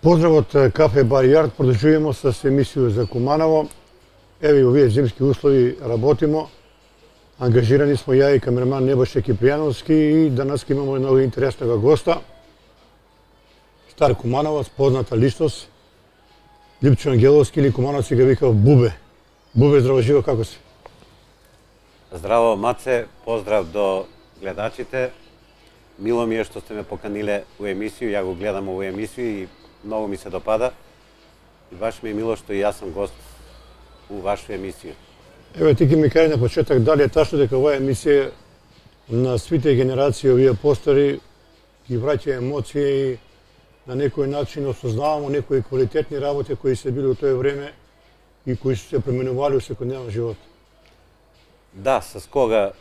Поздрав од Кафе Бар Јард, продолжуваме со емисија за Куманово. Еве овие зимски услови работимо. Ангажирани смо ја и камераман Небојша Кипријановски и денес имаме много интереснога госта. Стар кумановац, позната личност, Липчо Ангеловски или кумановци го викав Бубе. Бубе, здраво живо, како си? Здраво, Маце, поздрав до гледачите. Мило ми е што сте ме поканиле у емисију, ја го гледам ову емисију и многу ми се допада. И баш ми е мило што и јас сум гост у вашу емисију. Еве, ти ке ми кажи на почеток, дали е тачно дека оваа емисија на свите генерации, овие постари, ги враќа емоции и на некој начин осознавамо некои квалитетни работи кои се били у тој време и кои се пременували у секојдневен живот. Да, с кога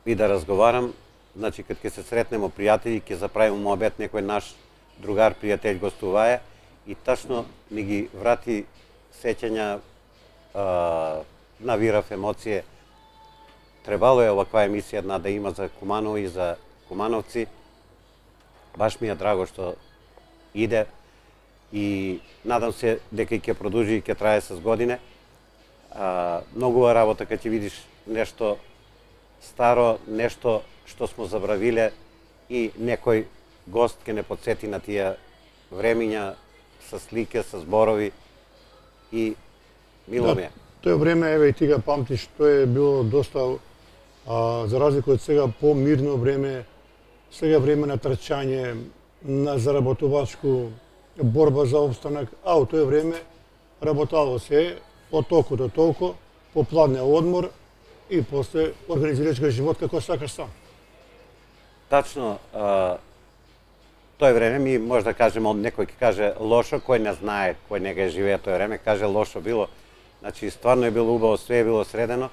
и да разговарам, значи кога ќе се сретнемо пријатели, ќе заправиме муабет, некој наш другар, пријател гостувае и тачно ми ги врати сеќања, навирав емоcije. Требало е оваква емисија една да има за Куманово и за кумановци. Баш ми е драго што иде и надам се дека ќе продолжи и ќе трае с године. Многува работа кога ќе видиш нешто старо, нешто што смо забравиле и некој гост ќе не подсети на тие времиња со слике, со зборови и мило ми е. Тој време, еве и ти го памтиш, тоа е било доста, за разлика од сега, по-мирно време, сега време на трчање, на заработувачку борба за обстанок, а у тој време работало се од толку до толку, по пладне одмор и после организирачка живот како сакаш сам. Тачно, тој време ми може да кажеме, некој ќе каже лошо, кој не знае, кој не го живее тој време, каже лошо било. Значи, стварно е било убаво, све е било средено.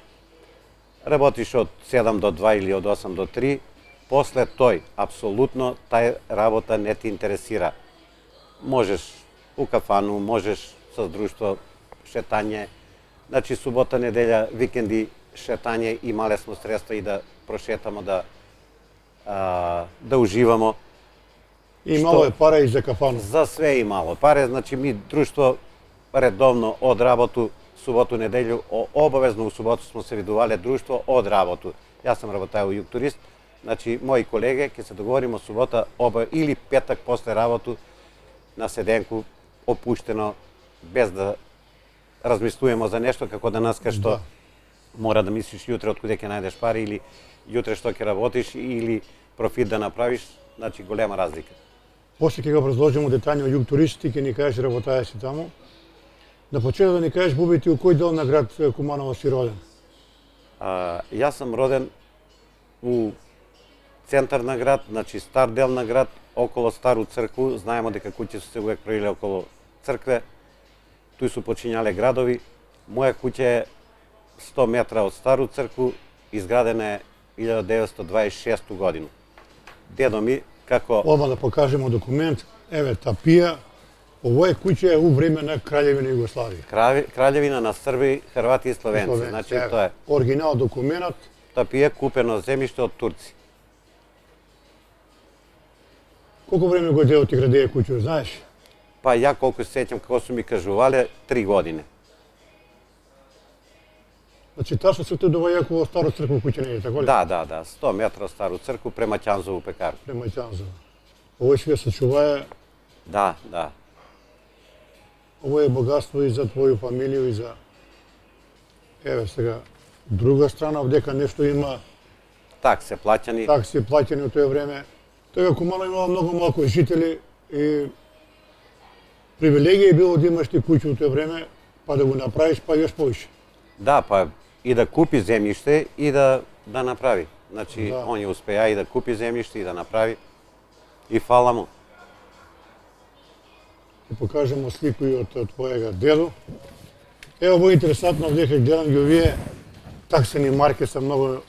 Работиш од 7 до 2 или од 8 до 3. После тој, апсолутно, тај работа не ти интересира. Можеш у кафану, можеш со друштво, шетање. Значи, субота, неделја, викенди, шетање, имале смо средства и да прошетамо, да уживамо. И мало е пара и за кафану. За све и мало паре, значи ми друштво редовно од работу, суботу, неделју, обавезно у суботу смо се видувале друштво од работу. Јас сам работај у Југ Турист, значи мои колеги ќе се договоримо субота или петак после работу на седенку, опуштено, без да размислуваме за нешто, како денеска што мора да мислиш јутре од куде ќе најдеш пари или јутре што ќе работиш или профит да направиш, значи голема разлика. После ќе го разложиме детаљно Југ Турист, ти ќе ни кажеш работаја си таму. На почеток да ни кажеш, Буби, ти у кој дел на град Куманово си роден? Јас сум роден у центар на град, значи стар дел на град, около Стару цркву. Знаемо дека куќи се увек правиле около цркве. Туј су почињале градови. Моја куќа е 100 метра од Стару цркву, изградена е 1926 годину. Дедо ми, како... Оба да покажемо документ. Еве, тапија. Ово е куќа у време на Краљевина Југославија. Краљевина на Срби, Хрвати и Словенци. Значи, тоа е. Оригинал документот. Тапија купено земјиште од турци. Колку време го дел ти градеја куќа, знаеш? Па ја колку се сеќам како су ми кажувале, 3 години. Значи, ташно се те доваја во Стару цркву куќа не е, така ли? Да, 100 метра од Стару цркву према Ќанзову пекар. Према Ќанзово. Ово сега се чувае... Да. Ово е богатство и за твоју фамилију и за... Еве сега, друга страна, овдека нешто има... Такси плаќани. Такси плаќани у тој време. Тоа Куманово имало многу малку жители и привилегија е било да имаш ти куќа у тој време, па да го направиш, па још повише. Да, па и да купи земјиште и да направи. Значи, он ја успеа и да купи земјиште и да направи. И фала му. Ќе покажемо слику и од твојега дедо. Ево, ово е интересантно, овдека гледам ги овие таксени марки се многу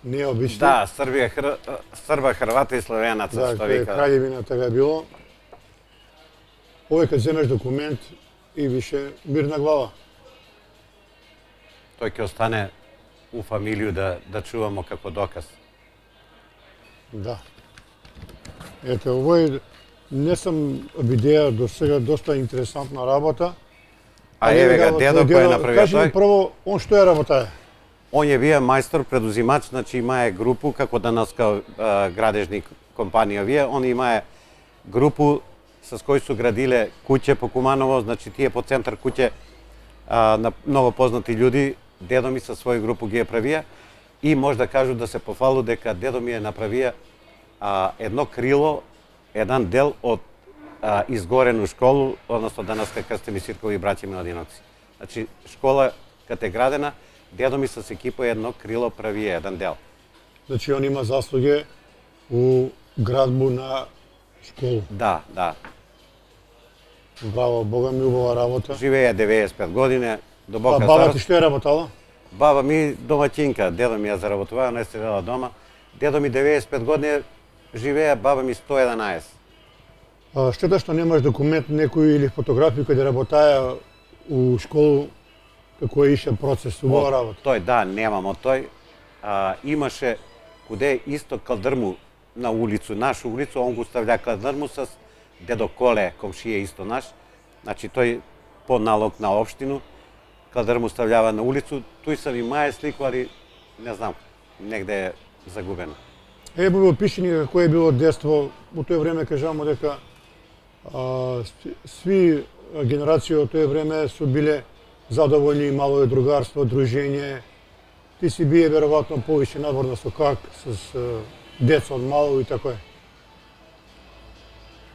необични. Да, Срба, Хрвата и Словенаца, што вика. Да, Краљевина така било. Овој кога земеш документ и више мирна глава. Тој ќе остане у фамилију да чувамо како доказ. Да. Ето, овој Не сум видеа до сега доста интересантна работа. А еве га дедо кој направи Кажи ми прво, он што ја работае? Он е бија мајстор предузимач, значи имае групу како данаска градежни компанија вие, он имае групу со кој су градиле куќе по Куманово, значи тие по центар куќе на многу познати људи, дедо ми со своја групу ги е правија и може да кажу да се пофалу дека дедо ми е направија едно крило, еден дел од изгорену школу, односно данаска Крстени Сиркови и браќа Миладиновци. Значи школа каде е градена, дедо ми со екипа едно крило прави еден дел. Значи он има заслуги у градбу на школу. Да, да. Браво, Бога ми, убава работа. Живее 95 години, дубока баба старост. ти што е работала? Баба ми домаќинка, дедо ми ја заработуваа, не седела дома. Дедо ми 95 години живее, баба ми 111. Штета што немаш документ некој или фотографија кој да работаја у школу, како е ише процес, убава работа. Тој, да, немамо тој. Имаше куде исто калдрму на улицу, нашу улицу, он го ставља калдрму с дедо Коле, комшија исто наш. Значи тој по налог на општину, калдрму стављава на улицу, тој сам и мае слику, али не знам, негде е загубено. Во пишени како е било детство, у тој време кажамо дека сви генерации од тој време су биле задоволни, имало е другарство, дружење. Ти си бие веројатно повише надворно со как, с деца од мало и така е.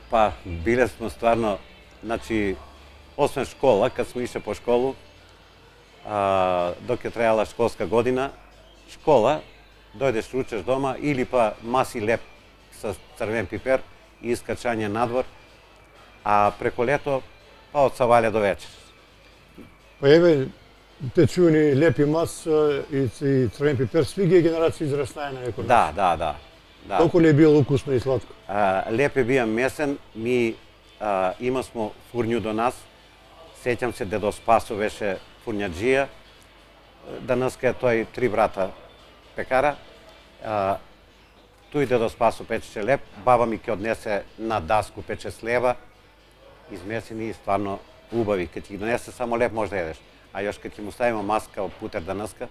Па, биле сме стварно, значи, освен школа, кад сме ише по школу, док е трајала школска година, школа, дојдеш ручеш дома, или па маси леп со црвен пипер и искачање надвор, а преко лето, па од савале до вечер. Па еве, те чуени лепи мас и црвен пипер, сви ги генерации израснае на некој. Да. Колку ли е било укусно и сладко? Леп е бија месен, ми има смо фурњу до нас, сеќам се дедо Спасо беше фурњаджија, данаска е тој 3 брата пекара, тој дедо Спасо печеше леп, баба ми ќе однесе на даску пече слева, измесени и стварно убави. Кога ти донесе само леп може да едеш, а још кога ќе му ставиме маска од путер данаска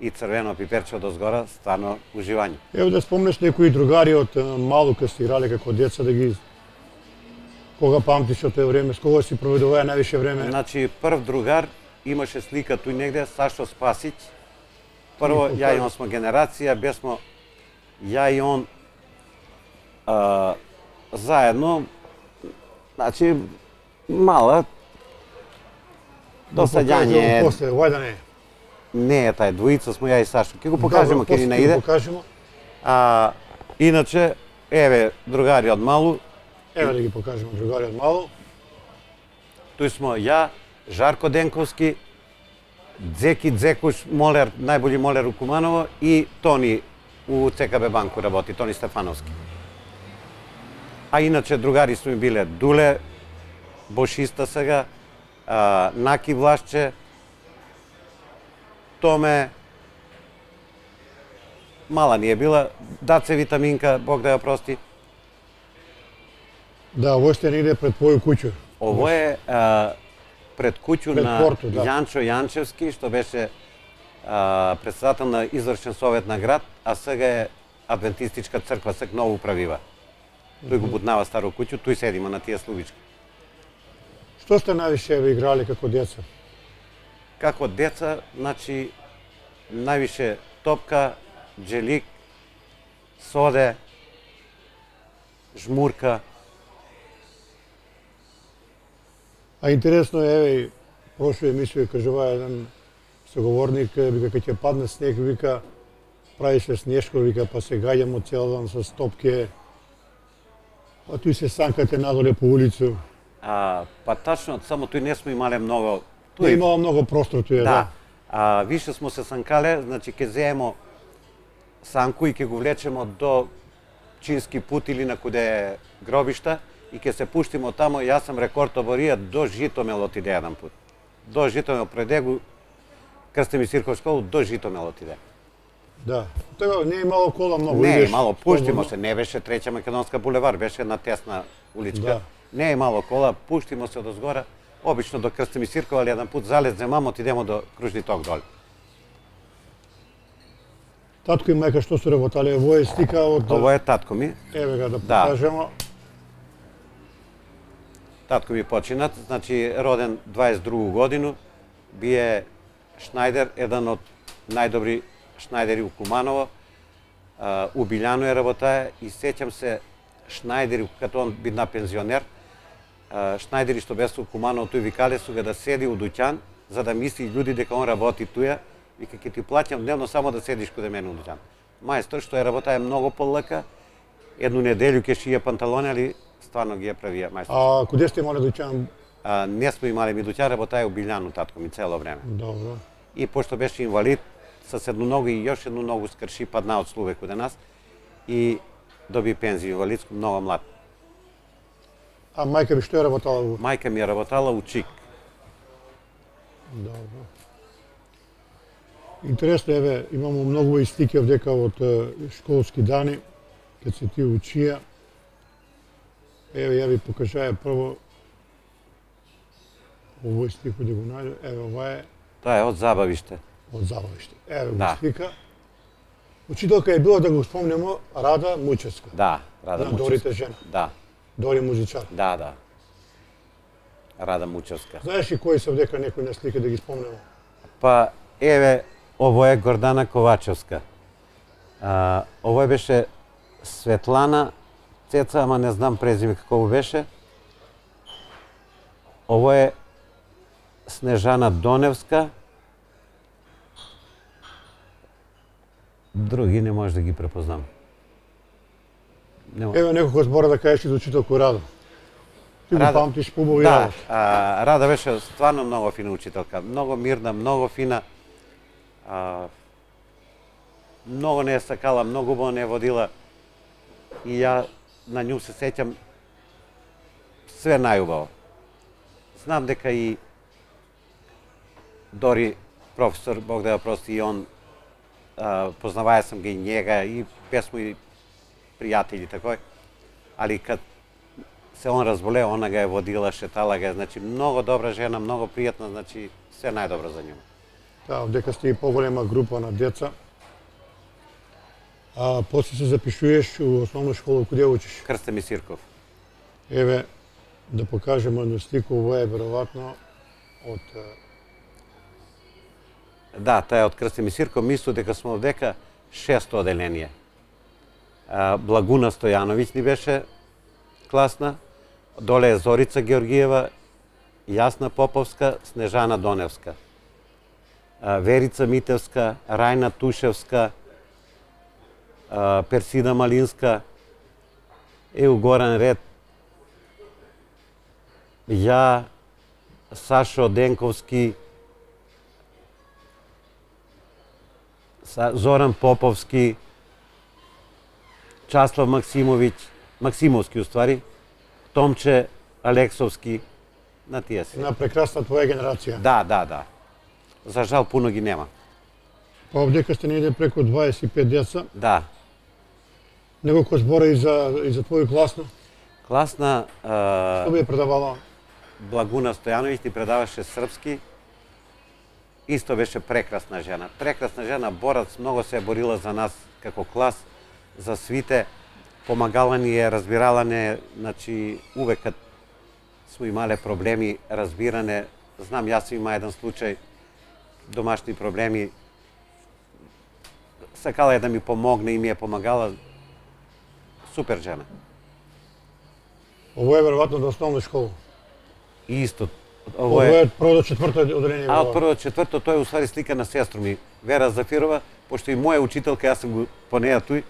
и црвено пиперче од озгора, стварно уживање. Ево да спомнеш некои другари од мало кога сте играле како деца, да ги кога памтиш од тој време, с кога си проведуваа највише време? Значи прв другар имаше слика туј негде Сашо Спасиć. Прво ја и он смо генерација, бесмо ја и он заедно, значи мала досаѓање. После, вајда не. Не е тај, двојица смо ја и Сашо. Ке го покажемо, ке ни наиде. Иначе, еве, другари од малу. Еве да ги покажемо другари од малу. Тој смо ја, Жарко Денковски, Дзеки Дзекуш, молер, најбољи молер у Куманово, и Тони у ЦКБ банку работи, Тони Стефановски. А иначе другари сме биле Дуле, бошиста сега, Наки Влашче, Томе, мала ни е била, Даце Витаминка, Бог да ја прости. Да, ово сте негде пред твоју куќу. Ово е пред куќу на порту, да. Јанчо Јанчевски, што беше председател на извршен совет на град, а сега е адвентистичка црква, сега ново правива. Тој го бутнава старо куќу, тој седима на тие слувички. Што сте највише играли како деца? Како деца, значи, највише топка, джелик, соде, жмурка. А интересно е, еве, прошла емисија кажува еден соговорник, вика, кога ќе падне снег, вика, прави се снежко, вика, па се гаѓамо цел ден со топке, а тој се санкате надоле по улицу. Па тачно, само тој не сме имале многу. Не имало многу простор тој, да. Више смо се санкале, значи ќе земемо санку и ќе го влечемо до Чински пут или на куде е гробишта и ќе се пуштимо тамо. Јас сам рекорд оборија до Житомел отиде еден пут. До Житомел преде го Крстени Сирков школу, до Житомел отиде. Да. Тоа не е имало кола многу. Не е идеш имало, пуштимо слободно. се, не беше Треќа Македонска булевар, беше една тесна уличка. Да. Не е имало кола, пуштимо се одозгора, обично до Крстимир Сирков, али еден пут залез мамо, отидемо до кружни ток доле. Татко и мајка што се работале, ово е слика од Ово е татко ми. еве га да Да. покажемо. Татко ми починат, значи роден 22 годину, бие Шнајдер, еден од најдобри Шнајдери у Куманово. У Билјано е работае и сеќам се Шнајдери, като он бидна пензионер, Шнајдери што бе у Куманово, тој викале су га да седи у дуќан, за да мисли луѓе дека он работи туја, вика ќе ти плаќам дневно само да седиш каде мене у дуќан. Мајстор што е работае многу полека, едну неделю ќе шие панталони, али стварно ги ја правија мајстор. А куде сте имале дуќан? Не сме имали ми дуќан, работае у Билјано татко ми цело време. Добро. И пошто беше инвалид, с едну ногу и још едну ногу скрши, падна од слуве каде нас и доби пензија инвалидско, многу млад. А мајка ви што е работала? Мајка ми е работала у ЧИК. Добро. Интересно, еве, имамо многу и слики овдека од школски дани, кога се ти учија. Еве, ја ви покажаја прво овој слик да го најдем. Еве, ова е Тоа е од забавиште. од забавиште. Еве го Да. слика. Учителка е била, да го спомнемо, Рада Мучевска. Да, Рада На Мучевска. Дорите жена. Да, Дори музичар. да. Рада Мучевска. Знаеш ли кои се овдека некои на слика да ги спомнемо? Па, еве, ово е Гордана Ковачевска. Ово беше Светлана Цеца, ама не знам презиме како беше. Ово е Снежана Доневска. Други не може да ги препознам. Еве неколку збора да кажеш за учителку Рада. Ти го памтиш побави Да, работа. Рада беше стварно многу фина учителка, многу мирна, многу фина. Многу не е сакала, многу убаво не водила. И ја на нju се сеќам све најубаво. Знам дека и Дори професор, Бог да ја прости, и он познаваја сам ги и njega и бе смо и пријатели такој. Али кад се он разболе, она га е водила, шетала га е, значи многу добра жена, многу пријатна, значи се најдобро за нju. Да, овдека сте и поголема група на деца. А после се запишуваш у основна школа, куде учиш? Крстимир Сирков. Еве, да покажемо едну слику, ова е веројатно од Да, таа е од Крстимир Сирков, мислу дека смо овдека 600 оделение. Благуна Стојановиќ ни беше класна, доле е Зорица Георгиева, Јасна Поповска, Снежана Доневска. Верица Митевска, Рајна Тушевска, Персида Малинска, е у горен ред. Ја, Сашо Денковски, Зоран Поповски, Часлав Максимовски уствари, Томче Алексовски, на тие се. на прекрасна твоја генерација. Да. За жал пуно ги нема. Па овдека сте негде преку 25 деца. Да. Неколку збора и за твоја класна. Класна Што би ја предавала? Благуна Стојановиќ ни предаваше српски. Исто беше прекрасна жена. Прекрасна жена, борац, многу се е борила за нас како клас, за свите. Помагала ни е, разбирала не, значи увек кад смо имале проблеми, разбиране. Знам, јас сум има еден случај, домашни проблеми. Сакала е да ми помогне и ми е помагала. Супер жена. Ово е веројатно до основна школа. И исто. Ово е прво до четврто оделение. А од прво до четврто тој е усвари слика на сестру ми, Вера Зафирова, пошто и моја учителка, јас сум го по неја тој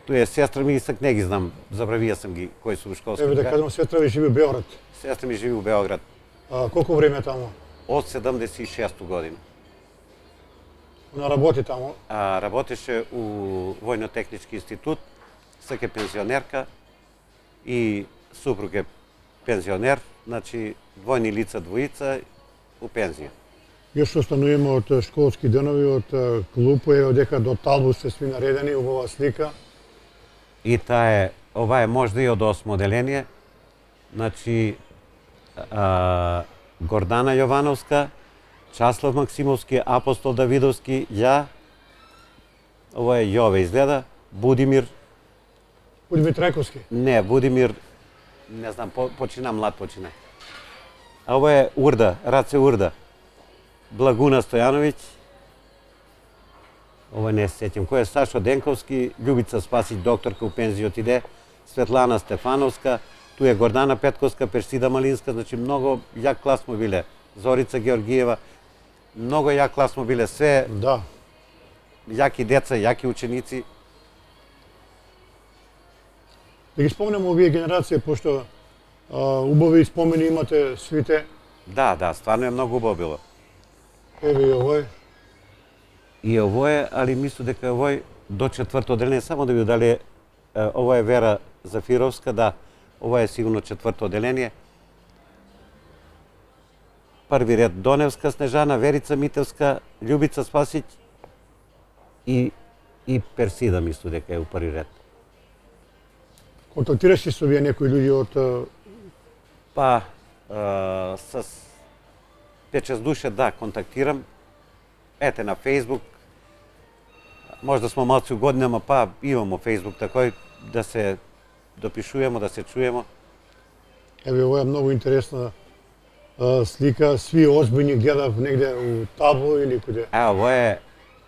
е сестра ми и сак не ги знам, забравија сам ги кои су школски. Еве да кажам, сестра ви живи у Београд. Сестра ми живи у Београд. А колку време таму? Од 76 година. Она работи таму. Работеше у Војно-технички институт, сак е пензионерка и супруг е пензионер, значи двојни лица, двојица у пензија. Јас остануваме од школски денови, од клуб, ево дека до Талбу се сви наредени, убава слика. И ова е можда и од 8 оделение. Значи, Гордана Јовановска, Часлав Максимовски, Апостол Давидовски, ја, ова е Јове изгледа, Будимир Трајковски. Не, Будимир, не знам, почина млад почина. А ова е Урда, Раце Урда. Благуна Стојановиќ. Ова не се сеќам. Кој е Сашо Денковски, Љубица Спасиć, докторка у пензија отиде, Светлана Стефановска, ту е Гордана Петковска, Персида Малинска, значи многу јак клас му биле. Зорица Георгиева, многу јак клас му биле, све Да. јаки деца, јаки ученици. Да ги спомнеме овие генерација, пошто убави спомени имате свите. Да, стварно е многу убаво било. Еве и овој. И овој, али мислам дека овој до 4-то оделение, само да ви дали, ова е Вера Зафировска, да, ова е сигурно 4-то оделение. Први ред Доневска Снежана, Верица Митевска, Љубица Спасиć и Персида мислам дека е у први ред. Контактираш ли со вие некои луѓе од... Па, с 5-6 душе, да, контактирам. Ете на Фейсбук. Можда смо малци у годинама, па имамо Фейсбук такој, да се допишуваме, да се чуемо. Еве, ова е многу интересна слика. Сви озбиljни гледав негде у Табло или куде? Ова е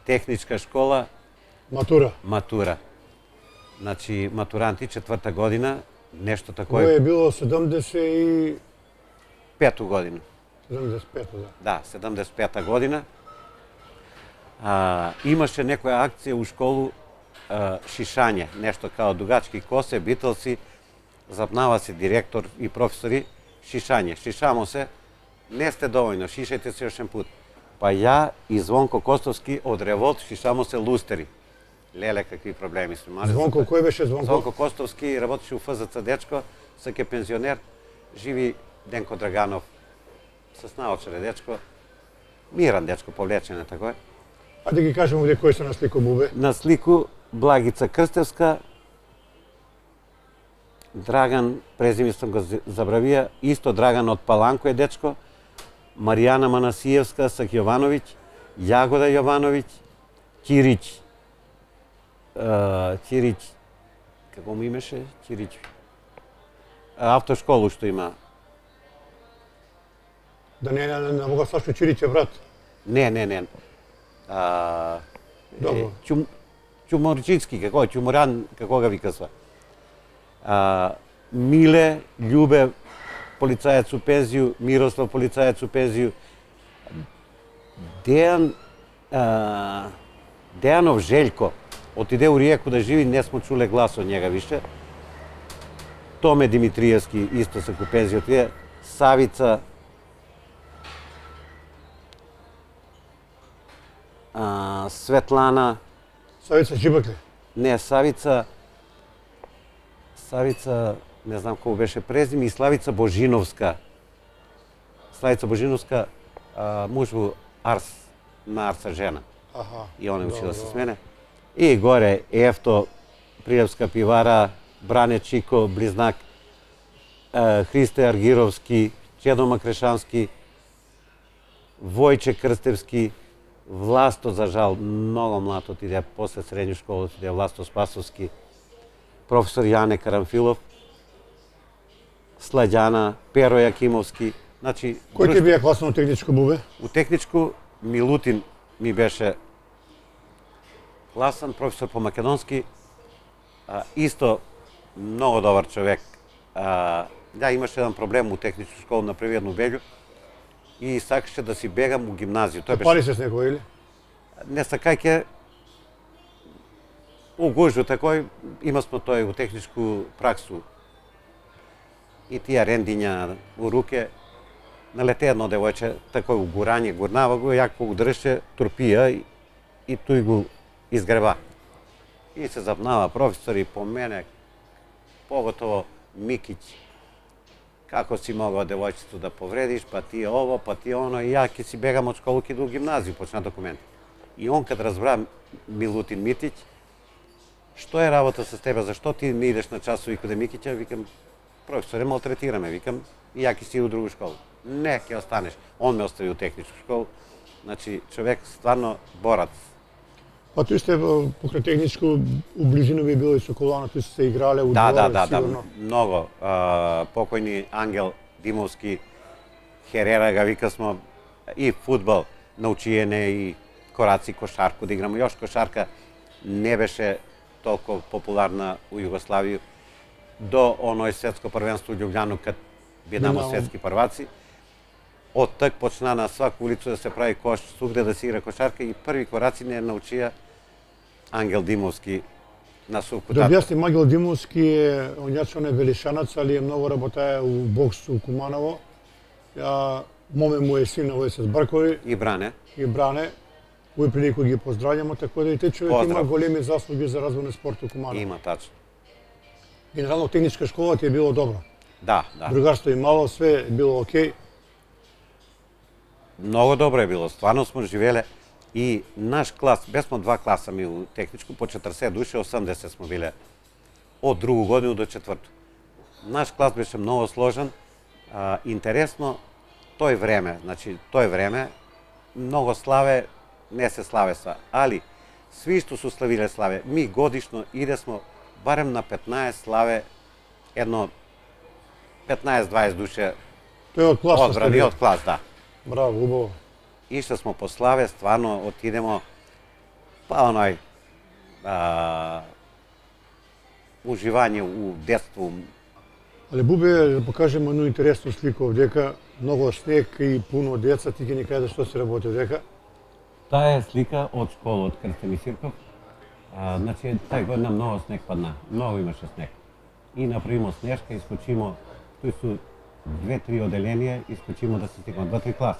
техничка школа. Матура. Значи, матуранти, 4-та година, нешто такој. Ова е било 75 година. 75, да. Да, 75-та година. Имаше некоја акција у школу, шишање, нешто као дугачки косе, битълси, запнава се директор и професори, шишање. Шишамо се, не сте довојно, шишајте се јошен пут. Па ја и Звонко Костовски од Револт шишамо се лустери. Леле, какви проблеми сме имали. Звонко, кој беше Звонко? Звонко Костовски работеше у ФЗЦ дечко, сак е пензионер, живи Денко Драганов, с наочаре дечко, миран дечко, повлечен е такој. А да ги кажем овде кој се на слику бубе? На слику Благица Крстевска, Драган, презиме сам го забравија, исто Драган од Паланко е дечко, Маријана Манасиевска, Сак Јовановиќ, Јагода Јовановиќ, Кирич, како му имеше? Кирич. Автошколу што има. Да не мога Сашо Чирич е брат? Не. Добро. Чуморчицки, како е? Чуморан, како га викасва? Миле, Љубе, полицаец у пензију, Мирослав, полицаец у пензију, Дејанов Желјко, отиде у Ријеку да живи, не смо чуле глас од njega више. Томе Димитриевски, исто се ку пензију отиде, Савица, Светлана... Савица Джибакле? Не, Савица, не знам кој беше презиме, и Славица Божиновска. Славица Божиновска, муж во Арс, на Арса жена. И она учила се с мене. И горе Ефто, Пријевска пивара, Бране Чико, Близнак, Христе Аргировски, Чедо Макрешански, Војче Крстевски, Власто, за жал, многу млад отиде, после средњу школа отиде Власто Спасовски, професор Јане Карамфилов, Сладјана, Перо Јакимовски. Значи, кој ти бија класно техничко бубе? У техничку Милутин ми беше класан, професор по македонски, исто многу добар човек. Да, имаше еден проблем у техничку школа на први едну белју и сакаше да си бегам у гимназију. Тој пали се с некој или? Не сакајќe у гужу такој, има смо тој у техничку праксу. И тие рендиња у руке, налете едно девојче, такој у гурање, гурнава го, јако го држеше, турпија и тој го изгреба. И се запнава професори по мене, поготово Микиć. како си могao девојчето да повредиш, па ти ово, па ти оно, и ја ќе си бегам од школу, ќе иду у гимназију, почна документи. И он кад разбра Милутин Митиќ, што е работа со тебе, зашто ти не идеш на часови каде Микиќа, викам, професоре, малтретираме, викам, и ја ќе си у другу школу. Не, ќе останеш. Он ме остави у техничку школу. Значи, човек стварно борец. Па тој сте покрај техничко, у близина би било и со колана, тој сте играле у дворе, сигурно. Да, многу. Покојни Ангел Димовски, Херера га вика смо, и фудбал научиене, и кораци, кошарку да играмо. Још кошарка не беше толку популарна у Југославија до оној светско првенство у Љубљану, кад бидамо светски прваци. Од так почна на сваку улицу да се прави кош, сугде да се игра кошарка, и први кораци не научија Ангел Димовски на сувкутата. Да објасни, Ангел Димовски е оњачо не велишанац, али е многу работаја у бокс у Куманово. Моме му е син на Војсес Бркови. И Бране. И Бране. Овој прилику ги поздравljamo, така да и тој човек има големи заслуги за развој на спорт у Куманово. Има, тачно. Генерално техничка школа ти е било добро. Да, да. Другарство имало, све е било окей. Многу добро е било, стварно смо живеле. И наш клас, бесмо два класа ми у техничку, по 40 души, 80 смо биле од другу годину до четврту. Наш клас беше многу сложен, интересно, тој време, многу славе, не се славе сва, али сви што су славиле славе, ми годишно идесмо барем на 15 славе, едно 15-20 душе одбрани од клас, да. Браво, убаво. Ишли смо по славе, стварно отидемо, па оној уживање у детство. Але Бубе, да покажеме едно интересно слика овдека, многу снег и пуно деца, ти ќе ни кажеш што се работи овдека? Таа е слика од школа, од Крстен Сирков. Значи, тај година многу снег падна, многу имаше снег. И направимо снежка, искочимо, тој су 2-3 оделенија, искочимо да се сликамо, 2-3 клас.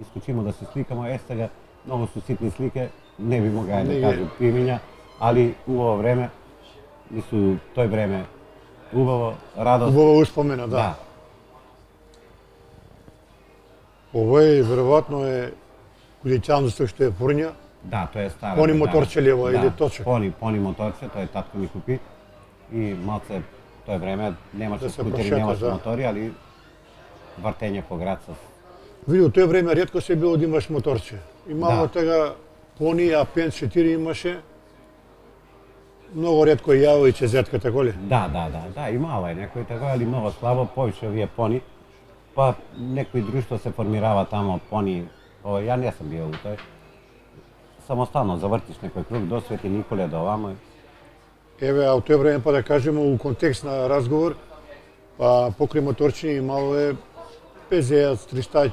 Искочимо да се сликамо, сега многу су ситни слike, не би могла да кажам имиња, али убаво време, мислу тој време убаво, радост. Убаво успомена, да. Овој веројатно е кулиќанство што е фурња. Да, тоа е стара. Пони моторче ли ова или точек? Пони моторче, тој татко ми купи и малце тој време немаше скутери, немаше мотори, али вртење по град со. Види, тој време ретко се било да имаш моторче. Имало тега пони, А5 4 имаше. Многу ретко јаво и чезетка, тако ли? Да, имало е некој тако, али многу слабо, повише овие пони. Па некои друштво се формирава тамо пони, ја не сум био у тој. Самостално завртиш некој круг до Свети Николе, до овамо. Еве, а у тој време, па да кажеме, у контекст на разговор, па покрај моторчини имало е пезејац, тристач,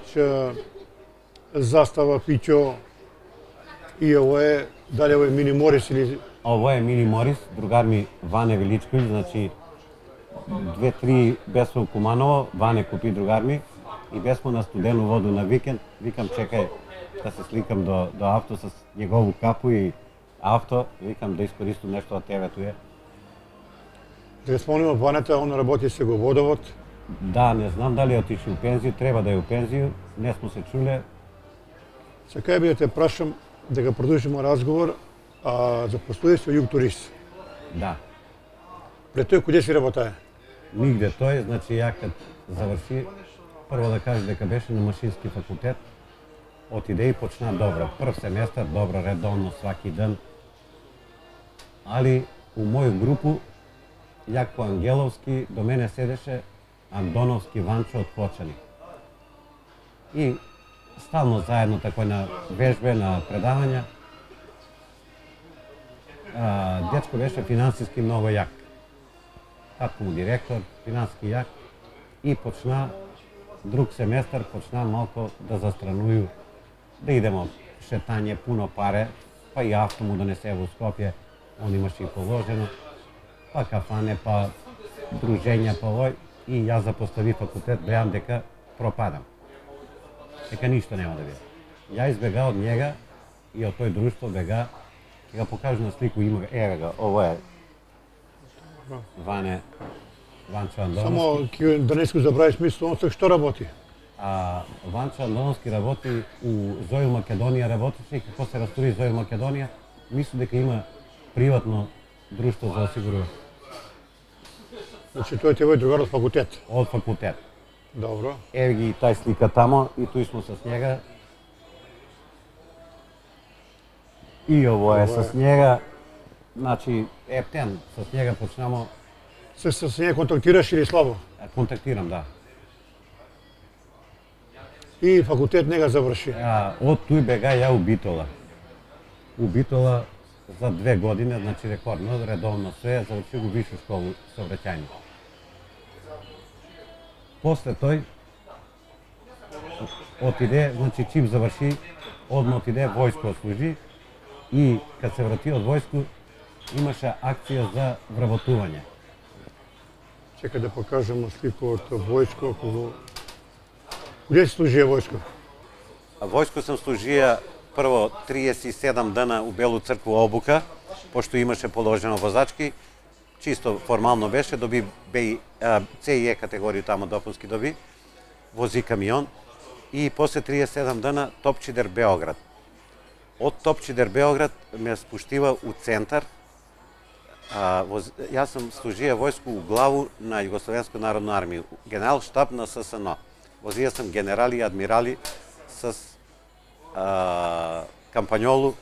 застава, пиќо, и ово е, дали ово е Мини Морис или... Ово е Мини Морис, другар ми Ване Величковиќ, значи 2-3 бесмо у Куманово, Ване купи другар ми, и бесмо на студену воду на викенд, викам чекај да се сликам до авто с негову капу и авто, викам да искористам нешто од тебе туе. Да спомнимо, Ванета, он работи се го водовод. Да, не знам дали отиши у пензију, треба да е у пензију, не смо се чуле. Сега би да те прашам да го продолжиме разговор за постојство Југ Турист. Да. Пред тој куде си работае? Нигде тој, значи ја кад заврши, прво да кажа дека беше на машински факултет, отиде и почна добро. Прв семестар, добро, редовно, сваки ден. Али у моју групу, Јако Ангеловски, до мене седеше Андоновски Ванчо од Плочани. И стално заедно тако на вежбе, на предавања. Дечко беше финансиски многу јак. Татко му директор, финансиски јак. И почна, друг семестар, почна малко да застрануju, да идемо шетање, пуно паре, па и авто му донесе во Скопје, он имаше и положено, па кафане, па дружења, па овој, и јас запостави факултет, гледам дека пропадам. Дека ништо нема да биде. Ја избега од njega и од тој друштво бега, ќе го покажу на слику, има еве га, ово е Ване Ванчо Андоновски. Само да не искаш забравиш мисло, он што работи? Ванчо Андоновски работи у Зоил Македонија работеше и како се растури Зоил Македонија, мисли дека има приватно друштво за осигурување. Значи тој е твој другар од факултет. Од факултет. Добро. Еви ги тај слика тамо и туј смо с njega. И ово е с njega. Значи, ептен, с njega почнемо. С неја контактираш или слабо? Контактирам, да. И факултет не га заврши. Од туј бега ја у Битола. У Битола за 2 години, значи рекордно, редовно се, заврши го вишу школу сообраќајни. После тој отиде, значи чим заврши, одма отиде војско служи и кад се врати од војско имаше акција за вработување. Чекај да покажемо слику од војско. Куде си служија војско? Војско сам служија прво 37 дена у Белу цркву обука, пошто имаше положено возачки, чисто формално беше, доби С и Е категорија тамо допуски доби, вози камион и после 37 дена Топчидер Београд. Од Топчидер Београд ме спуштива у центар. Јас сам служија војско у главу на Југословенска народна армија, генерал штаб на ССН. Возија сам генерали и адмирали с кампањолу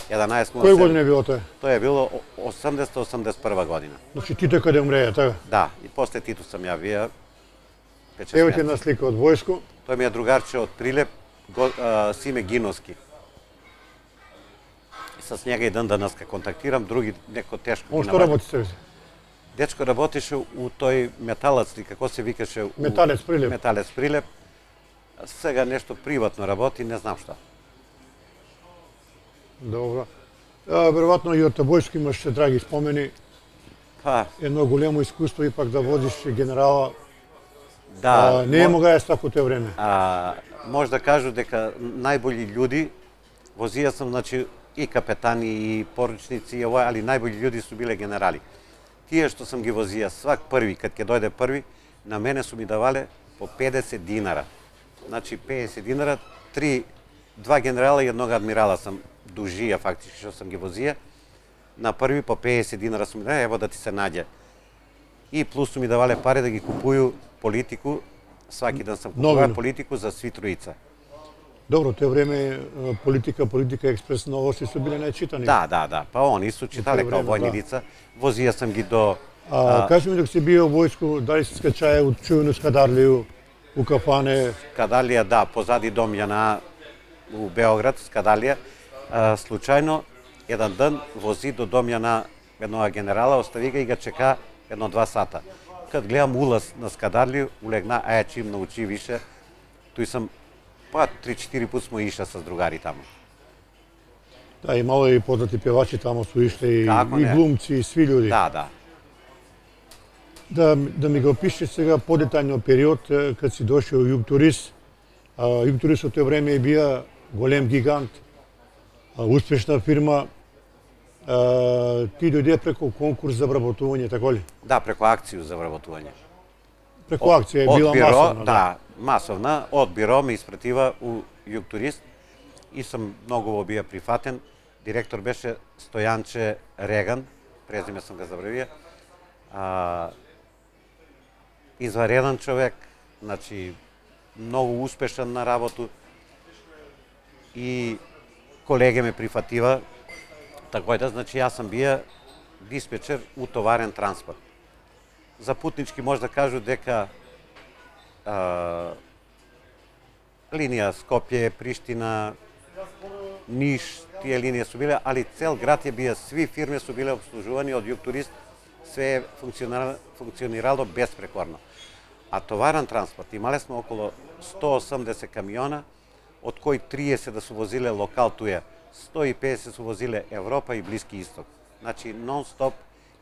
1107. Кој година е било тоа? Тоа е било 80-81 година. Значи Тито каде умреја, така? Да, и после Тито сам ја вија. Ево ти една слика од војско. Тој ми е другарче од Прилеп, Симе Гиновски. С njega и ден денеска контактирам, други неко тешко ги Он што работи се? Дечко работеше у тој металец, како се викаше? Металец Прилеп. Металец Прилеп. Сега нешто приватно работи, не знам што. Добро. Веројатно и од војско имаш драги спомени. Едно големо искуство ипак да водиш генерала. Да. Не е могаја тако тоа време. Може да кажу дека најбољи људи, возија сам, значи, и капетани, и поручници, и ова, али најбољи људи су биле генерали. Тие што сам ги возија свак први, кад ќе дојде први, на мене су ми давале по 50 динара. Значи 50 динара, два генерала и еднога адмирала сам дужија фактички што сам ги возија. На први по 50 динара су ми давале, ево да ти се наѓе. И плюс су ми давале пари да ги купуju политику, сваки ден сам купуваа политику за сви тројца. Добро, тоа време политика експрес новости су биле најчитани. Да. Па они су читале као војни лица. Возија сам ги до... Кажи ми, док си био војско, дали си скачаја у чујну Скадарлију, у кафане? Скадарлија, да, позади дом Јана у Београд, Скадарлија. Случајно, еден ден вози до дом Јана еднога генерала, остави ga и ga чека 1-2 сата. Кад гледам улаз на Скадарлију, улегна, чим научи више, тој сам 3-4 пут смо иша с другари тамо. Да, имало и познати певачи тамо су ишле, и глумци, и сви људи. Да. Да ми го опишеш сега подетајно период кад си дошол у Југтурис. Југтурис од тоа време бија голем гигант, успешна фирма. Ти дојде преку конкурс за вработување, тако ли? Да, преку акцију за вработување. Преку акција е била масовна. Да, масовна. Од биро ме испратива у Југтурист и сам многу бија прифатен. Директор беше Стојанче Реган, презиме сам го забравија. Извареден човек, значи многу успешен на работу и колеги ме прифатива. Така да, значи јас сам бија диспечер у товарен транспорт. За путнички може да кажу дека линија Скопје, Приштина, Ниш, тие линии су биле, али цел град бија, сви фирми су биле обслужувани од Југтурист, све функционирало безпрекорно. А товарен транспорт имале сме околу 180 камиона, од кои 30 да су возиле локал туја, 150 су возиле Европа и Блиски Исток. Значи нон-стоп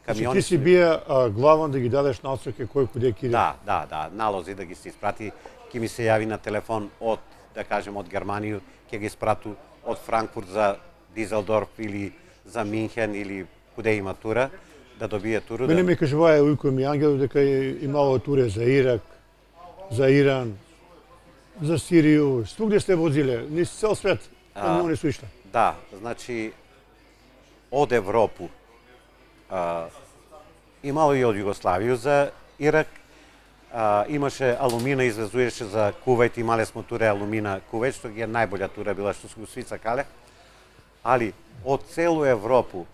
камиони. Ти си бија главан да ги дадеш насоки кој куде ќе иде? Да, налози да ги се испрати, ќе ми се јави на телефон од, да кажем, од Германија, ќе ги испрату од Франкфурт за Дизелдорф или за Минхен или куде има тура, да добие туру. Мене ми кажуваа ујко ми Ангел дека имало туре за Ирак, за Иран, за Сирију, свугде сте возиле, низ цел свет, камиони су ишле. Да, значи од Европу имало и од Југославију за Ирак, имаше алумина, извезуеше за Кувајт, имале смо туре алумина Кувајт, што ги е најбоља тура била што су сви сакале, али од целу Европу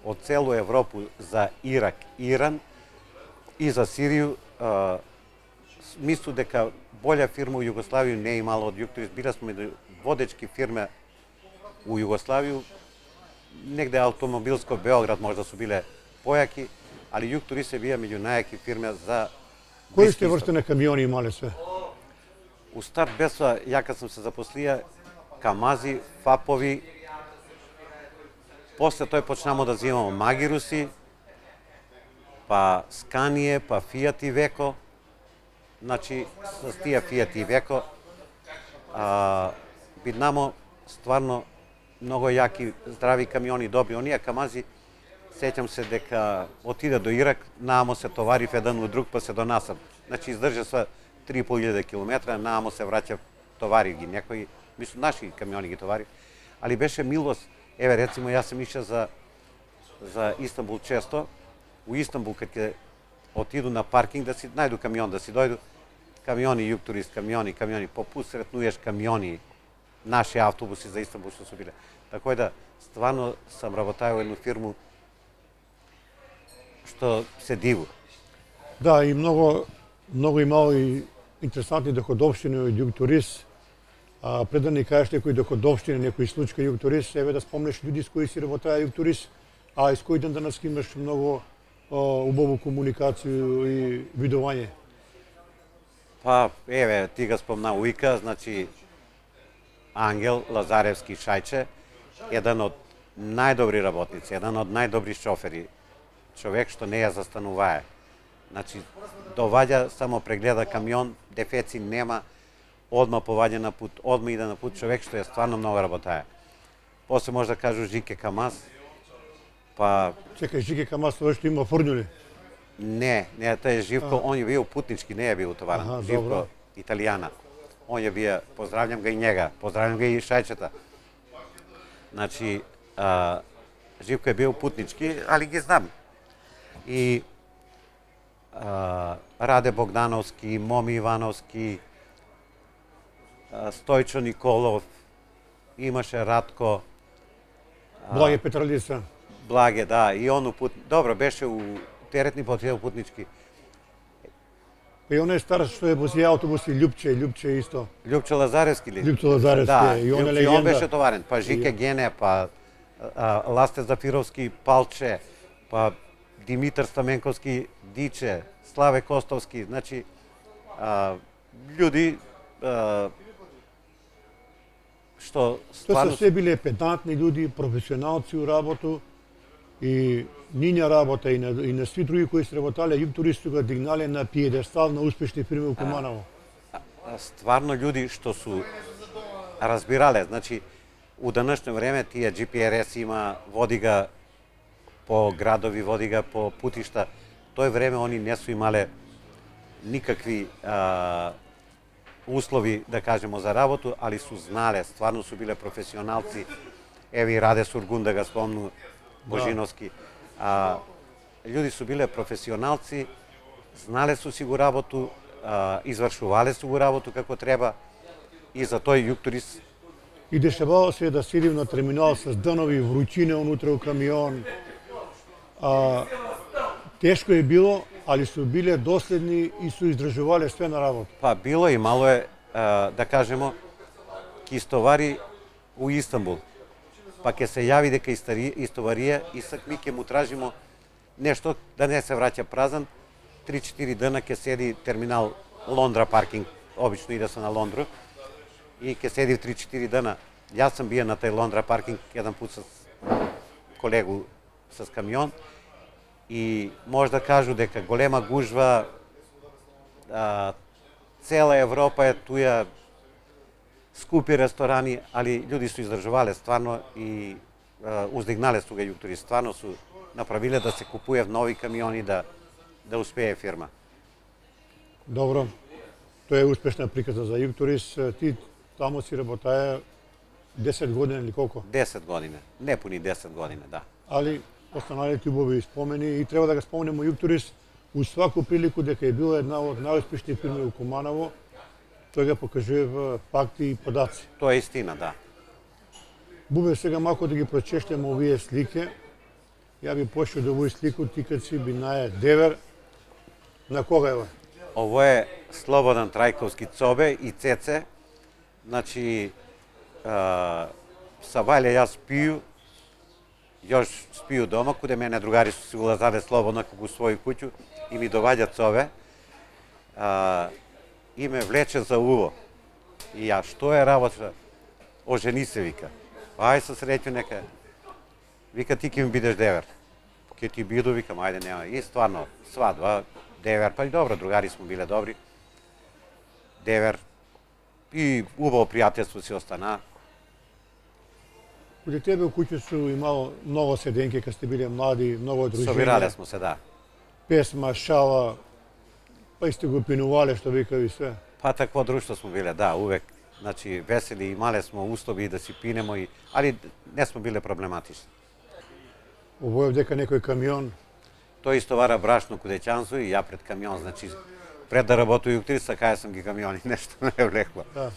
за Ирак, Иран и за Сирију, мислу дека болја фирма у Југославију не е имала од Јукторис. Биле сме меѓу водечки фирме у Југославију, негде автомобилско Београд можда су биле појаки, али Јукторис е бија меѓу најаки фирме за Кои сте врсте на камиони имале све? У старт беса, ја кад сам се запослија, Камази, Фапови, после тој почнамо да взимамо Магируси, па Сканије, па Фијат и Веко. Значи, с тие Фијат и Веко, биднамо стварно многу јаки, здрави камиони, добри. Оние Камази, сеќам се дека отиде до Ирак, наамо се товарив еден у друг, па се донасам. Значи, издржа се 3.500 километра, наамо се враќа, товари ги некои, мислам, наши камиони ги товари. Али беше милост. Еве, рецимо, јас сам иша за Истанбул често. У Истанбул, кад ќе отиду на паркинг, да си најду камион, да си дојду, камиони Јукторис, камиони, по пут сретнуеш камиони, наши автобуси за Истанбул што су биле. Така да, стварно сам работајал едну фирму што се диву. Да, и многу имало и интересантни доходовштини од Јукторис. Пред да ни кажеш некои доходовштини, некои случаи Јукторис, еве да спомнеш луѓе с кои си работаа Јукторис, а с кои ден денес имаш многу убаво комуникацiju и видување. Па, еве, ти го спомна Уика, значи Ангел Лазаревски Шајче, еден од најдобри работници, еден од најдобри шофери, човек што не ја застанувае. Значи, доваѓа, само прегледа камион, дефеци нема, одма поваѓа на пут, одма иде на пут, човек што е стварно многу работае. После може да кажу Жике Камаз, па... Чекај, Жике Камаз, тоа што има фурњули? Не, тој е Живко, он е бил путнички, не е бил товарен. Живко, италијана. Он е бија, поздравljam ga и njega, поздравljam ga и Шајчета. Значи, Живко е бил путнички, али ги знам. И Раде Богдановски, Моми Ивановски, Стојчо Николов, имаше Радко. Благе Петралица. Благе, да, и он пут... Добро, беше у теретни потреба путнички. И он е стар што е вози автобуси, Љупче исто. Љупче Лазаревски ли? Љупче Лазаревски, да, и он е легенда. И он беше товарен, па Жике Гене, па Ласте Зафировски Палче, па Димитар Стаменковски Диче, Славе Костовски, значи људи што стварно... Тоа се биле педантни људи, професионалци у работу, и ниња работа и на сви други кои се работале, Јукторис су го дигнале на пиедестал на успешни фирми у Куманово. Стварно људи што су разбирале, значи, у денешно време тие GPRS има, води га по градови, води га по путишта. Тој време они не су имале никакви услови, да кажемо, за работу, али су знале, стварно су биле професионалци. Еви Раде Сургун да га спомну, Божиновски. Луѓе су биле професионалци, знале су си го работу, извршувале су го работу како треба, и за тој Јукторис. И дешавало се да седим на терминал с данови, вручине унутре у камион. Тешко е било, али су биле доследни и су издржувале све на работа. Па било и мало е, да кажемо, ки истовари у Истанбул. Па ќе се јави дека истоварија и сак ми ќе му тражимо нешто да не се враќа празан. 3-4 дена ќе седи терминал Лондра паркинг, обично иде се на Лондру, и ќе седи 3-4 дена. Јас сам бија на тај Лондра паркинг еден пут с колегу с камион, и може да кажу дека голема гужва, цела Европа е туја, скупи ресторани, али луѓе су издржувале стварно и уздигнале су га Јукторис, стварно су направиле да се купуе нови камиони, да успее фирма. Добро. Тоа е успешна приказа за Югтурист. Ти таму си работаја 10 години или колку? 10 години, не пуни 10 години, да. Али останалите убави спомени и треба да го спомнеме Югтурист у сваку прилику дека е била една од најуспешни фирми у Куманово. Тој го покажува факти и подаци. Тоа е истина, да. Бубе, сега малку да ги прочештеме овие слики. Ја би пошел до овој слику, ти кад си бинаја девер. На кога е? Ово е Слободан Трајковски Цобе и Цеце. Значи, са Вајле јас пију, још спију дома, куде мене другари си улазаде слободно како у своју куќу и ми доваѓа Цове. И ме влече за уво. И ја, што е работа? Ожени се, вика. Ај се среќу нека. Вика, ти ке ми бидеш девер. Ке ти биду, викам, ајде, нема. И стварно, свадба, девер, па и добро, другари смо биле добри. Девер. И убаво пријателство си остана. Куде тебе у куќу су имало многу седенки кога сте биле млади, многу дружења. Собирале смо се, да. Песма, шала, па и сте го пинувале, што вика и све. Па такво друштво смо биле, да, увек. Значи, весели, имале смо услови да си пинемо, али не смо биле проблематични. Овој дека некој камион. Тој истовара брашно кудеќанство и ја пред камион, значи, пред да работу Югтурист, кај сам ги камиони, нешто не е влекло. Да.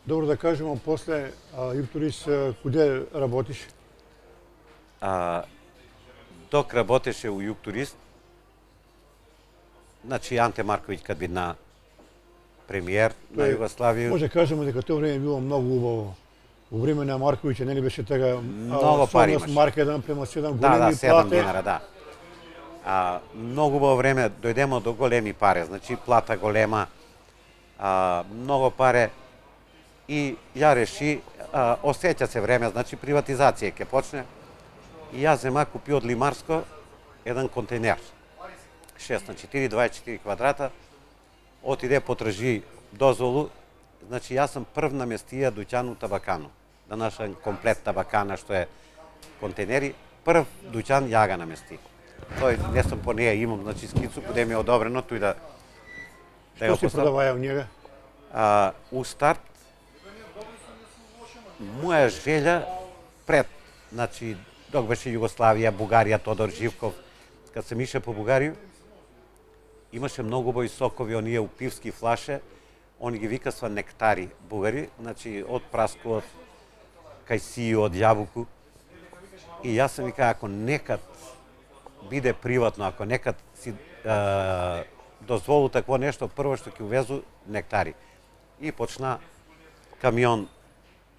Добро да кажемо, после Югтурист, куде работиш? Док работеше у Югтурист, значи Анте Марковиќ кад бидна премиер на Југославија. Може кажеме дека тоа време било многу убаво. Во време на Марковиќ нели беше така многу пари имаше. Марка 1:7 големи да, 7 плати. динара, да. Многу убаво време дојдемо до големи пари, значи плата голема, многу паре и ја реши, осеќа се време, значи приватизација ќе почне. И јас зема купи од Лимарско еден контейнер. 6x4, 24 квадрата, отиде потржи дозволу, значи јас сам прв наместија дуќан у Табакану. Да нашен комплет Табакана што е контейнери, прв дуќан ја ga намести. Тој не сум по неја имам, значи скицу куде ми е одобрено тој да Што се продаваја у njega? У старт моја желја пред, значи док беше Југославија, Бугарија, Тодор Живков, кад се ише по Бугарија, имаше многу бој сокови, оние у пивски флаше, они ги викасва нектари бугари, значи од праско, од кајсију, од јабуку. И јас сам вика, ако некад биде приватно, ако некад си дозволу такво нешто, прво што ќе увезу нектари. И почна камион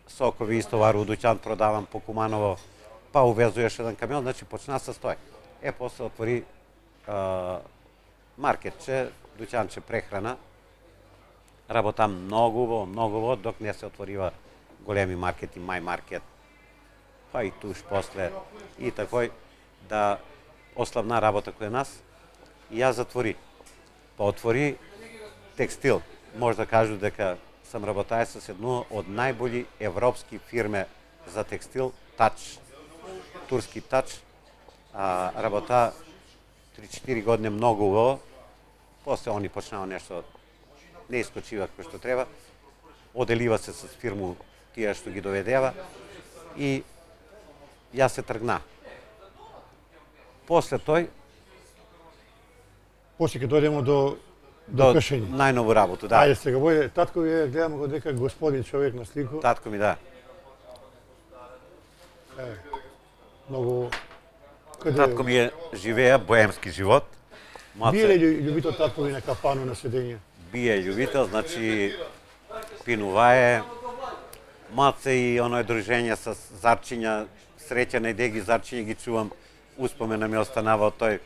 сокови истовару, дуќан продавам по Куманово, па увезуеш еден камион, значи почна со стој. После отвори маркетче, дуќанче прехрана, работам многу, док не се отворива големи маркети, Мај маркет, па и туш после, и такој, да ославна работа кој нас, и ја затвори. Па отвори текстил, може да кажу дека сам работај со едно од најбољи европски фирме за текстил, Тач, турски Тач, работа 3-4 години многу убаво, после они почнаа нешто, не искочива кој што треба, оделива се с фирму тие што ги доведева и јас се тргна. После тој, После ќе дојдемо до пешење. Најнову работу, да. Ајде сега, војде, татко ви гледам го дека господин човек на слику. Татко ми, да. Многу... Татко ми живеа боемски живот. Бие ли љубител татко ви на капану на седење? Бие љубител, значи пинувае, маце и оној дружење со зарчиња, среќа не деги зарчиња ги чувам, успомена ми останава од тој.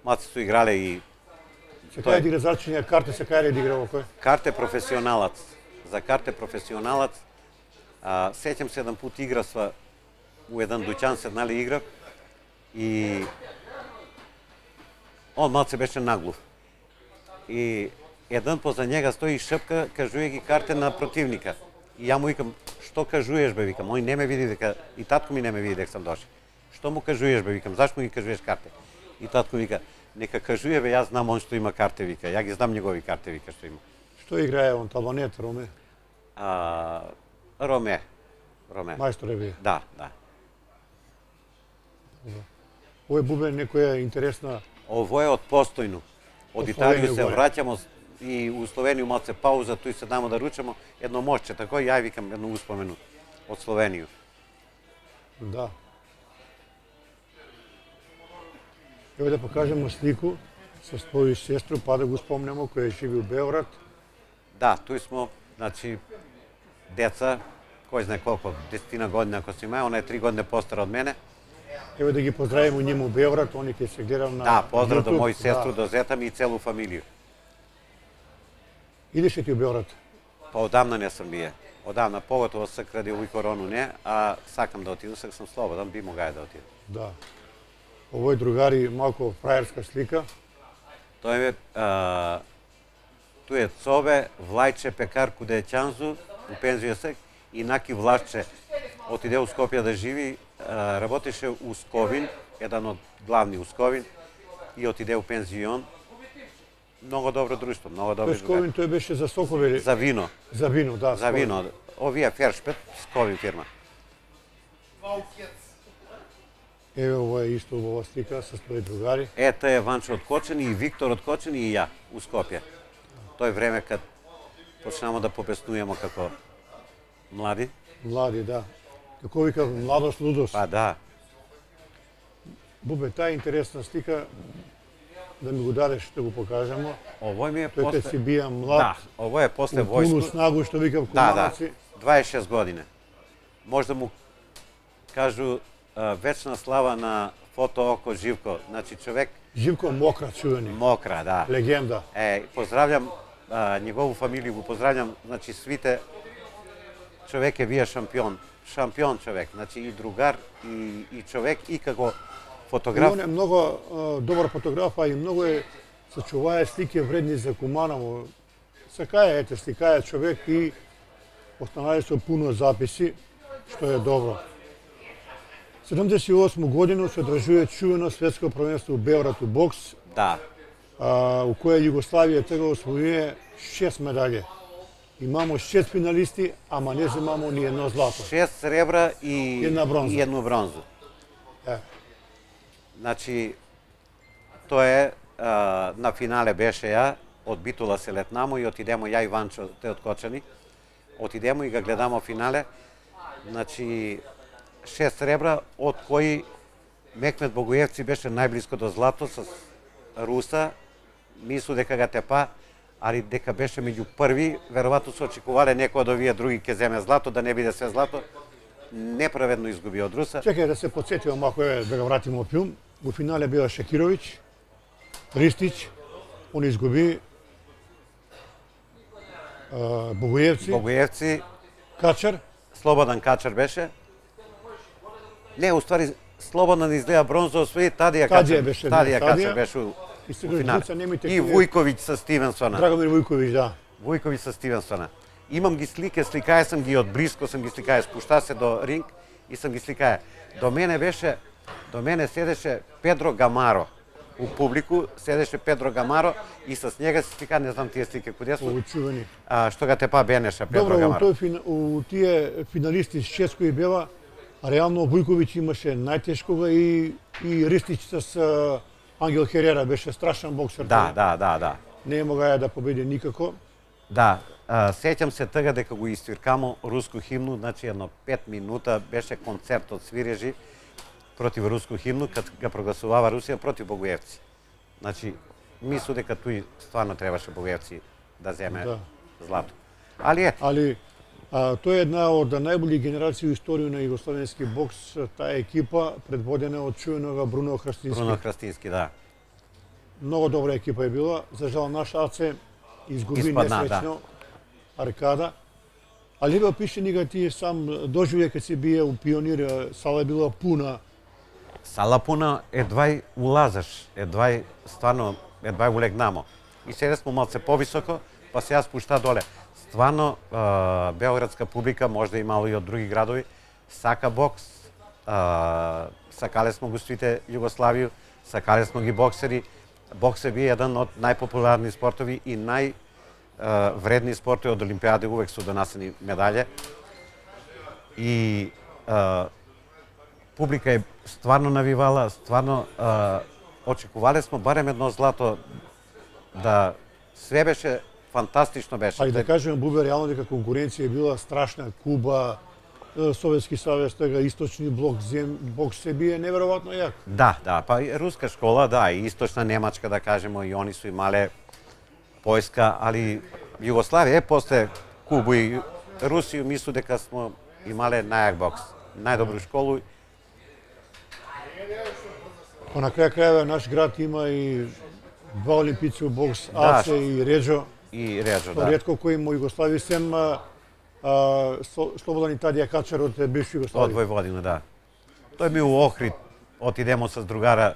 Маце су играле и... Се кај игра зарчиња, карте се кај игра во кој? Карте професионалац. За карте професионалац, сеќам се еден пут играсва у еден дуќан, седнале игра и он малце беше наглув. И еден поза njega стои и шепка, кажуе ги карте на противника. И ја му викам, што кажуеш бе, викам, ој не ме види дека и татко ми не ме види дека сам дошол. Што му кажуеш бе, викам, зашто ми кажуеш карте? И татко вика, нека кажуе бе, јас знам он што има карте, вика, ја ги знам негови карте, вика, што има. Што играе он, табанет, Роме? Роме. Мајсторе бе. Да. Овој бубен некоја интересна... Ово е од постојно. Од Италија се враќамо и у Словенију малце пауза, туј се дамо да ручамо едно мошче, тако ја викам едно успомену од Словенију. Да. Ево да покажемо слику со твоја сестру, па да го спомнемо, која живи у Београд. Да, туј смо, значи, деца, кој знае колко, 10 година ако си има, она е 3 години постара од мене. Ево да ги поздравиме нима у Београд, они ќе се гледам на Да, поздрав до YouTube. мој сестру, до зета ми и целу фамилију. Идеш ли ти у Београд? Па одамна не сум бие. Одамна, поготово кради овој корону не, а сакам да отидам, сакам слободен, би могај да отидам. Да. Овој другари малку фраерска слика. Тој е, тој е Цове, Влајче, пекар, куде е Чанзу, у пензија се, и Наки Влашче, отиде у Скопје да живи, работеше у Сковин, еден од главни у Сковин, и отиде у пензион. Много добро друштво, много добро. Тој Сковин, тој беше за сокови. За вино. За вино, да. За вино. Овие Фершпет, Сковин фирма. Еве ова е исто убава слика со своји другари. Ета е Ванчо од Кочани и Виктор од Кочани и ја у Скопје. Тој време кад почнемо да попеснуемо како млади. Млади, да. Како вика младост, лудост. Па да. Бубе, таа интересна слика, да ми го дадеш да го покажемо. Овој ми е Тој после... кога си бија млад. Да, овој е после Пуну војско. снагу, што викам Да, куманаци. 26 години. Може да му кажу вечна слава на фото око Живко. Значи човек Живко Мокра, чувени. Мокра, да. Легенда. Поздравljam негову фамилију, го поздравljam, значи свите. Човек е вие шампион. Шампион човек, значи и другар, и човек, и како фотограф. Он е многу добар фотограф, а и многу е сачувае слики вредни за Куманово. Сакаја, ете, сликаја човек и останали со пуно записи, што е добро. 78 година се одржува чувено светско првенство у Београд у бокс, Да. у која Југославија тега освојува 6 медаљи. Имамо 6 финалисти, ама не земамо ни едно злато. 6 сребра и една бронза. и едно бронзу. Е. Значи, тоа е, на финале беше ја, од Битула се летнамо и отидемо ја и Ванчо, те од Кочани. Отидемо и га гледамо финале. Значи, 6 сребра, од кои Мекмет Богоевци беше најблиско до злато с Руса. Мислу дека га тепа, али дека беше меѓу први, веројатно се очекувале некој од овие други ќе земе злато, да не биде све злато. Неправедно изгуби од Руса. Чекај да се подсетиме малку, да го вратиме во филм. Во финале била Шакировиќ, Ристич, он изгуби, Богоевци, Богоевци, Качар. Слободан Качар беше. Не, уствари, Слободан изгледа бронза освои, Тадија Качар беше, Тадија да, Качар Тадија. беше у И сега финале. деца немите И Вујковиќ со Стивенсона. Драгомир Вујковиќ, да. Вујковиќ со Стивенсона. Имам ги слике, сликаја сам ги од блиско, сам ги сликаја, спушта се до ринг и сам ги сликаја. До мене седеше Педро Гамаро. У публику седеше Педро Гамаро и с njega се слика, не знам тие слики куде су. Учувани. Што га тепа Бенеша, Педро Добро, Гамаро. у тие финалисти с 6 кои бева, реално Вујковиќ имаше најтешкога и Ристич с Ангел Херера беше страшен боксер. Да. Не могаја да победи никако. Да, сеќам се тога дека го иствиркамо руску химну, значи едно 5 минута беше концерт од свирежи против руску химну, кад га прогласувава Русија против Богоевци. Значи, мислу дека тој стварно требаше Богоевци да земе злато. Али ете. Али тоа е една од најболи генерации у историју на југословенски бокс, таа екипа предводена од чуенога Бруно Хрстински. Бруно Хрстински, да. Многу добра екипа е била, за жал наш Аце изгуби Испадна, несреќно Аркада. Али бе пише нига ти сам доживеја кога си бие у Пионир, сала била пуна. Сала пуна, едвај улазаш, едвај улегнамо. И сега смо малце повисоко, па се јас спушта доле. стварно београдска публика, можда и мало и од други градови, сака бокс, сакале смо гостите Југославију, сакале смо ги боксери. Бокс е би еден од најпопуларни спортови и највредни спортови од Олимпијади, увек се донасени медалје. И публика е стварно навивала, стварно очекувале смо барем едно злато, да све беше фантастично беше. А и да кажеме, Бубе, реално дека конкуренција е била страшна. Куба, Советски Савез, тега Источни блок, бокс се бие неверојатно јак. Да, па и руска школа, да, и Источна Немачка, да кажемо, и они су имале Појска, али Југославија после Кубу и Русију мислу дека смо имале најак бокс, најдобру школу. Па на крај крајава наш град има и два олимпици у бокс, Аце и Реджо. И Реджо, да. Ретко кој му Југославија сем Слободан и Тадија Качар од бивши Југославија. Од Војводина, да. Тој би у Охрид, отидемо с другара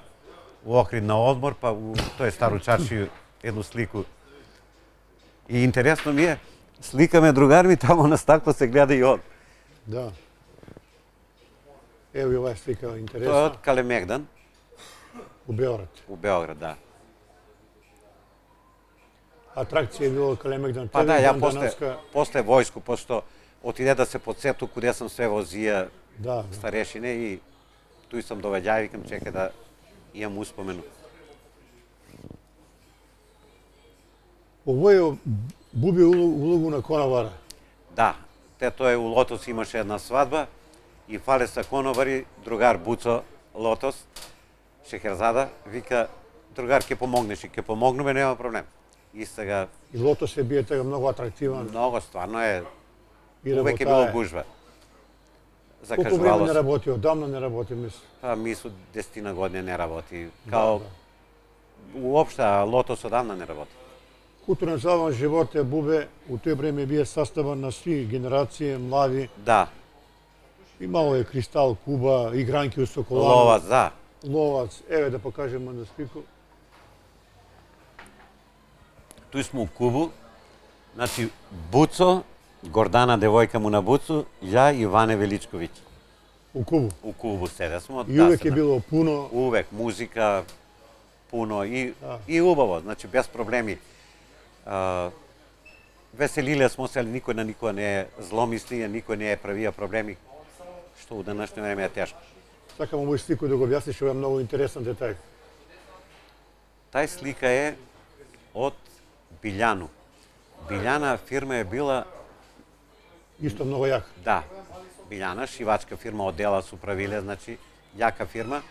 у Охрид на одмор, па у тој Стару Чаршију едну слику. И интересно ми е, сликаме другар ми тамо на стакло се гледа и од. Да. Ево и оваа слика интересна. Тоа е од Калемегдан. У Београд. У Београд, да. Атракција е било Калемегдан. Па да, ја после војску, пошто отиде да се подсету куде сам све возија старешине и туј сам довеѓај, викам чекај да имам успомену. Овој Буби улогу на конобара. Да, тоа у Лотос имаше една свадба и фале са конобари, другар Буцо Лотос, Шехерзада, вика, другар, ке помогнеш и ке помогнеме, нема проблем. И сега... И Лотос е бие тега многу атрактиван. Многу, стварно е. Увек е било гужва. Колку време не работи? Одамна не работи, мислам. Па, мислу, 10 години не работи. Као... Уопшта, Лотос одамна не работи. Културен забавен живот е Бубе, у тој време бие составен на сви генерации, млади. Да. Имало е Кристал, Куба, игранки у Соколану. Ловац, да. Ловац. Еве да покажеме на слику. Туј смо у Кубу. Значи, Буцо, Гордана, девојка му на Буцо, ја и Ване Величковиќ. У Кубу? У Кубу седе смо. И увек е било пуно. Увек, музика, пуно и убаво, значи без проблеми. Веселиле смо се, никој на никој не е зломислија, никој не е правија проблеми, што у денешно време е тешко. Сакам овој слику да го објасниш, ова е многу интересен детај. Тај слика е од Билјану. Билјана фирма е била... Исто многу јака. Да, Билјана, шивачка фирма, од дела су правиле, значи, јака фирма.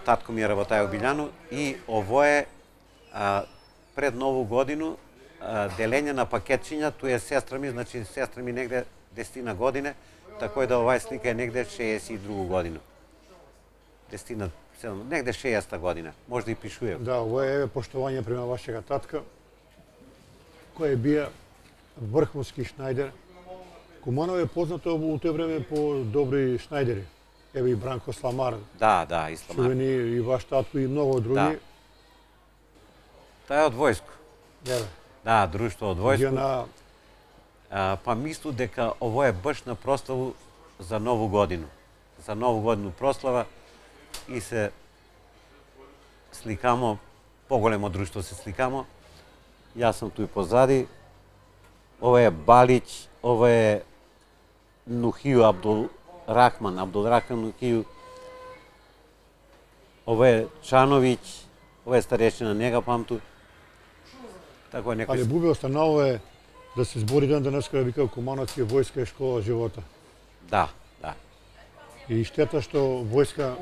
Татко ми е работај у Билјану и ово е пред Нову годину, делење на пакетчиња, туј е сестра ми, значи сестра ми негде 10 године, тако да оваа слика е негде 62 годину. 10, негде 60 година, може да и пишуе. Да, ово е поштовање према вашега татка, кој е бија врховски шнајдер. Куманово е познато у тој време по добри шнајдери. Еве и Бранко Сламар. Да, и Сламар. Чувени и ваш татко и многу други. Да. Тоа е од војско. Да, друштво од војско. Па мислу дека ово е баш на прославу за Нову годину. За Нову годину прослава и се сликамо, поголемо друштво се сликамо. Јас сум туј позади. Ова е Балиќ, ова е Нухију Абдулрахман Нухију. Ова е Чановиќ, ова е старешина, не ga памту. Тако некој... Але Бубе останало е да се збори ден денеска да вика Кумановци војска е школа живота. Да. И штета што војска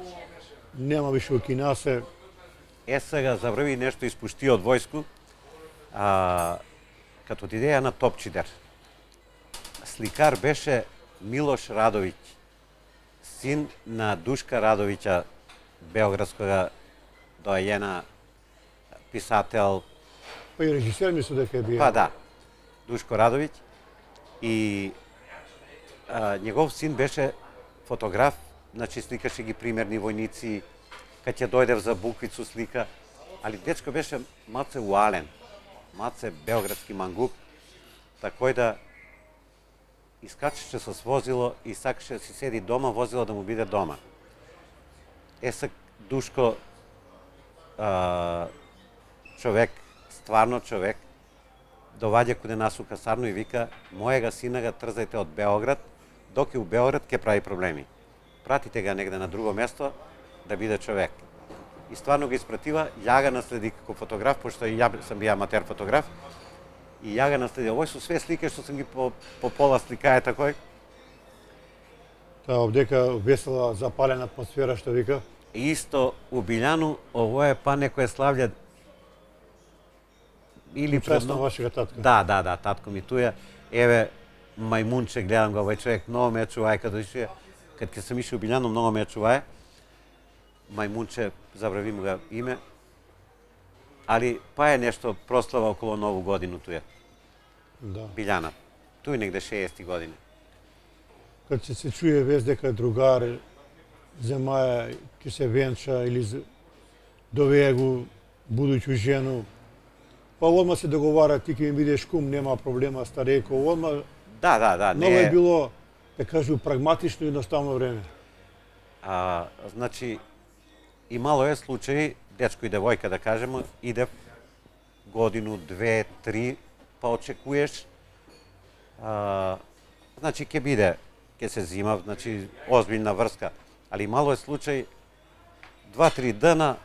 нема више у Кинасе. Сега заврви нешто испушти од војску, като идеја на Топчидер. Сликар беше Милош Радовиќ, син на Душка Радовиќа, београдскога доајена писател. Па и режисер мислу дека е бија. Па да, Душко Радовиќ. И негов син беше фотограф, значи сликаше ги примерни војници, кад ќе дојдев за буквицу слика, али дечко беше маце уален, маце београдски мангуп такој да искачеше со возило и сакаше да си седи дома, возило да му биде дома. Сак Душко, човек, стварно човек, доваѓа куде нас у касарну и вика: мојега сина га трзајте од Београд, док е у Београд ќе прави проблеми. Пратите га негде на друго место да биде човек. И стварно го испратива, ја га наследи како фотограф, пошто и ја сам бија аматер фотограф, и ја га наследи. Овој со све слики што сум ги по пола сликае такој. Та овдека весела запалена атмосфера што вика. Исто у Билјану, ово е па некој славља или Чесно вашига татка. Да, татко ми туја. Еве мајмунче, гледам го овој човек, многу ме чувај кога дојде. Кад ќе сам ишол у Билјану, многу ме чувај. Мајмунче, забрави му га име. Али па е нешто прослава околу Нову годину туја. Да. Билјана. Туј негде 60 години. Кад се чуе вест дека другар земаја ќе се венча или довее го будуќу жену, па одма се договара, ти ќе ми бидеш кум, нема проблема, старејко, одма. Да, Много е било, да кажу, прагматично и едноставно време. Значи, имало е случаи, дечко и девојка да кажеме, иде годину, 2, 3, па очекуваш, значи ќе биде, ќе се зима, значи озбилна врска, али мало е случај 2-3 дена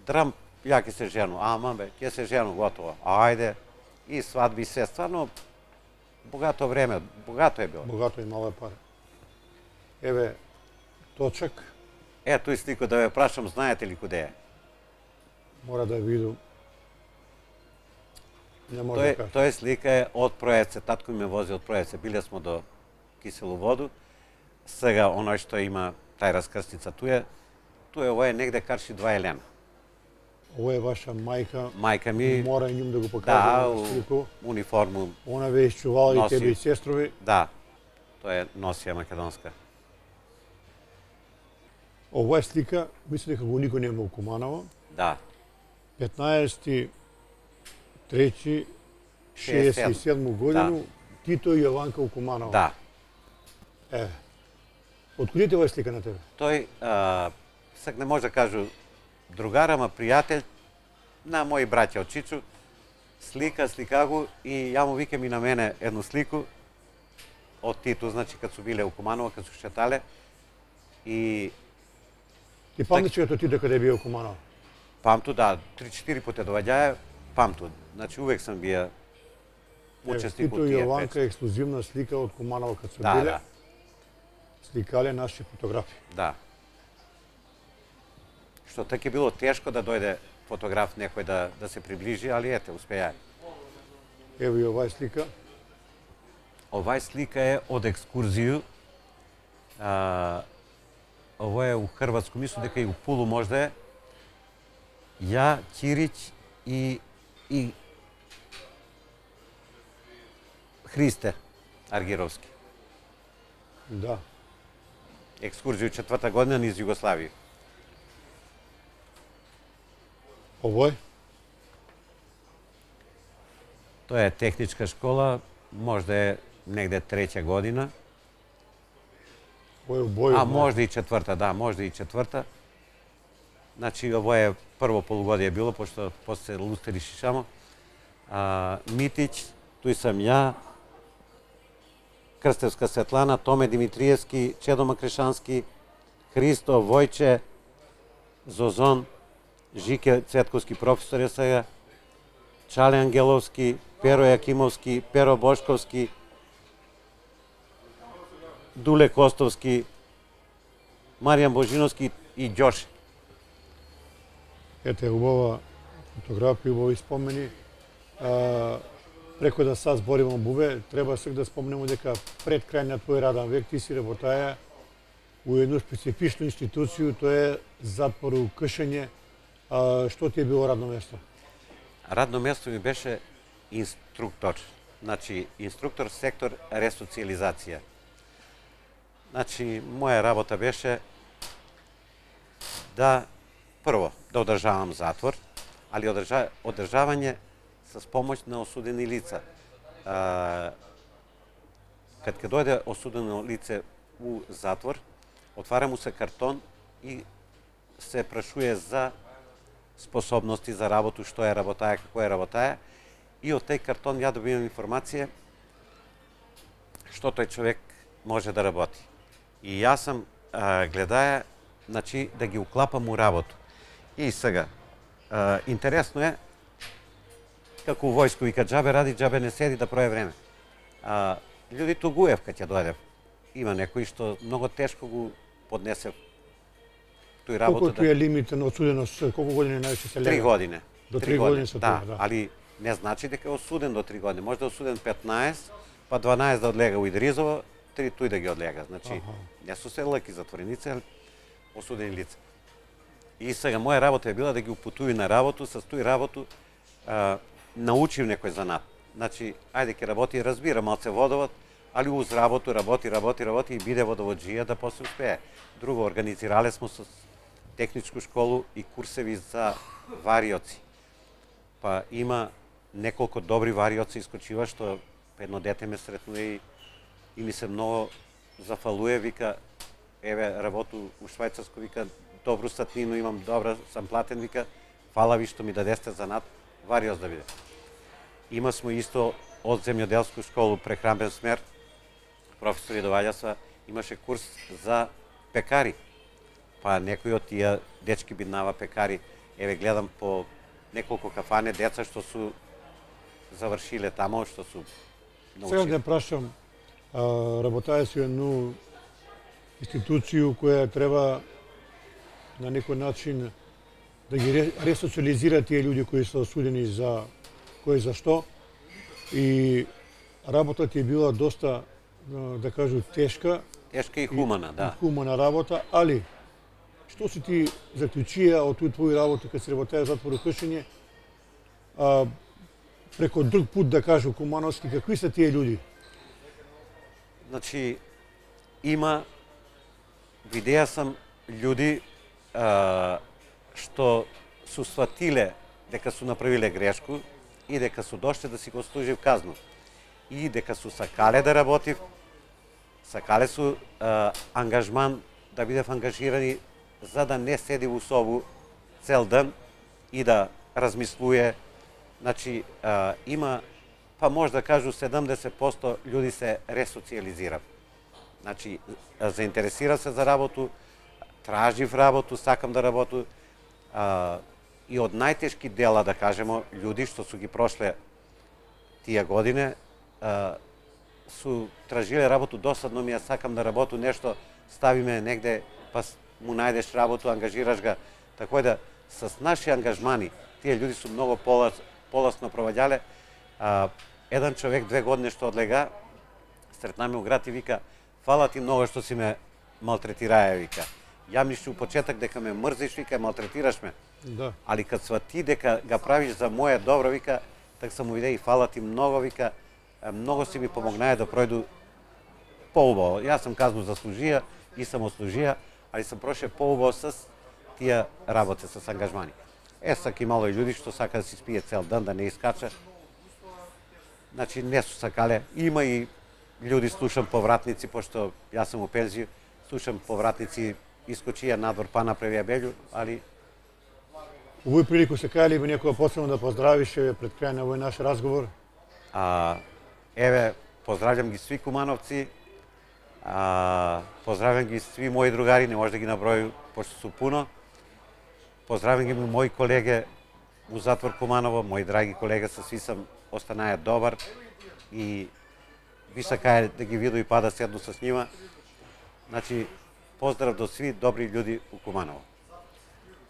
драм, ја ќе се жену, ама бе, ќе се жену, готово, ајде, и свадби се, стварно богато време, богато е било. Богато и мало е пари. Еве, точак. Ето и слико да ве прашам, знаете ли куде е? Мора да виду. Не може да кажа. Тој слика е од Проеце, татко ми ме вози од Проеце, биле смо до Киселу воду. Сега оној што има тај раскрстница туе, ово е негде Карши 2 Елена. Ово е ваша мајка. Мајка ми. Мора и njim да го покажа слику. Униформу. Она ве изчувала и тебе и сестрови. Да, тоа е носија македонска. Ова е слика, мислам дека го никој нема у Куманово. Да. 15.3.67 годину, Тито и Јованка у Куманово. Да. Еве. Откудите ова слика на тебе? Тој, сак не може да кажу другар, ама пријател на мои браќа од Чичу, слика го и ја му викам и на мене едну слику од Тито, значи кад су биле у Куманово, кад су шетале. И Ти памтиш като Тито каде бија у Куманово? Памту, да, 3-4 пута доваѓаја, памту. Значи увек сам бија учесник Тито од и тие Јованка песни. ексклузивна слика од Куманово кад су Да, биле. да. Сликале наши фотографи. Да. Што така е било тешко да дојде фотограф некој да се приближи, али ете, успеја. Ево и оваа слика. Овај слика е од екскурзију. Ово е у Хрватско, мислам дека и у Пулу можда е. Ја, Ќирич и Христе Аргировски. Да. Екскурзију 4-та година низ Југославија. Овој? Тоа е техничка школа, можда е негде 3-та година. Овој у боју. Можда и 4-та, да, можда и 4-та. Значи, ово е прво полугодие било, пошто после Лустери Шишамо. Митич, туј сам ја, Крстевска Светлана, Томе Димитриевски, Чедо Макрешански, Христо, Војче, Зозон, Жике Цветковски професор е сега, Чале Ангеловски, Перо Јакимовски, Перо Бошковски, Дуле Костовски, Маријан Божиновски и Ѓоше. Ете, убава фотографија, убави спомени. Преку да са збориме бубе, треба сек да спомнеме дека пред крај на твој раден век ти си работаја у едну специфичну институцију, тоа е затвор у Кшење. Што ти е било радно место? Радно место ми беше инструктор. Значи, инструктор сектор ресоциализација. Значи, моја работа беше да, прво, да одржавам затвор, али одржавање с помоќ на осудени лица. kad ќе дојде осудено лице у затвор, отвара му се картон и се прашуе за способности за работу, што е работаја, како е работаја, и од тој картон ја добивам информација што тој човек може да работи. И јас сам гледаја, значи, да ги уклапам у работу. И сега, интересно е, како у војско вика, џабе ради, џабе не седи да проје време. Луѓе тугуев кога ќе дојдев. Има некои што многу тешко го поднесе тој работа. Колку е лимитен осуденост, колку години највише се лега? 3 години. До 3 години се да, тоа, да. Али не значи дека е осуден до 3 години. Може да е осуден 15, па 12 да одлега у Идризово, 3 тој да ги одлега. Значи, не су се лаки затвореници, али осудени лица. И сега моја работа е била да ги упутуи на работу, со тој работу научив некој занат. Значи, ајде ќе работи, разбира малце водовод, али уз работу работи и биде водоводжија да после успее. Друго, организирале смо со техничку школу и курсеви за вариоци. Па има неколку добри вариоци искочива, што едно дете ме сретнуе и ми се многу зафалуе, вика, еве, работу у Швајцарско, вика, добру статнину имам, добра сам платен, вика, фала ви што ми дадесте занат, вариоц да биде. Има смо исто од земјоделску школу прехранбен смер, професор Јадоваѓаса имаше курс за пекари. Па некои од тие дечки биднава пекари, еве гледам по неколку кафане деца што су завршиле тамо, што су научили. Сега да прашам, работаја си едну институцију која треба на некој начин да ги ресоциализира тие луѓе кои се осудени за кој за што, и работата е била доста, да кажу, тешка. Тешка и хумана, да. Хумана работа, али што си ти заклучија од тој твој работа кога си работеа затвор и кршење, преко друг пут, да кажу, кумановски, какви се тие луѓе? Значи, видеа сам луѓи што су сватиле дека су направиле грешку и дека су дошле да си го служив казну. И дека су сакале да работив, сакале су ангажман да бидев ангажирани за да не седи во собу цел ден и да размислуе. Значи, има, па може да кажу, 70% луѓи се ресоциализира. Значи, заинтересира се за работу, тражив работу, сакам да работу, и од најтешки дела, да кажемо, луѓи што су ги прошле тие години, су тражиле работу, досадно ми ја сакам да работу, нешто ставиме негде, па му најдеш работу, ангажираш га. Така да, с наши ангажмани, тие луѓи су многу поласно проваѓале. Еден човек 2 години што одлега, сретнаме у град и вика, фала ти многу што си ме малтретираја, вика. Ја мислиш у почеток дека ме мрзиш, вика, малтретираш ме. Да. Али кад свати дека га правиш за моје добро, вика, така сам му виде и фала ти многу, вика, многу си ми помогнае да пројду поубаво. Јас сам казну заслужија и сам ослужија, али сам проше поубаво с тие работи, с ангажмани. Сак имало и луѓи што сака да си спие цел ден, да не искача. Значи, не су сакале. Има и луѓи, слушам повратници, пошто јас сум у пензија, слушам повратници, искочија надвор, па направија белју, али... У овој прилику се кајали би некоја посебно да поздравиш пред крај на овој наш разговор? Еве, поздравljam ги сви кумановци, поздравljam ги сви мои другари, не може да ги наброју, пошто су пуно. Поздравljam ги мои колеги у затвор Куманово, мои драги колеги, со сви сам останаја добар и ви сакаја да ги виду и па да седну со нима. Значи, поздрав до сви добри луѓи у Куманово.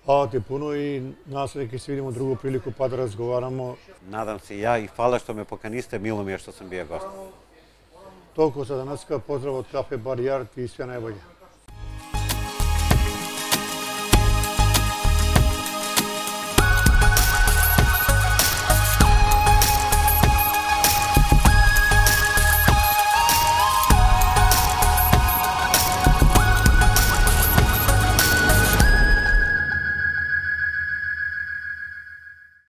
Фала ти пуно и надам се дека ќе се видиме друго прилику па да разговарамо. Надам се ја и фала што ме поканисте, мило ми е што сум бија гост. Толку за денеска, поздрав од Кафе Бар Јард и све најбоље.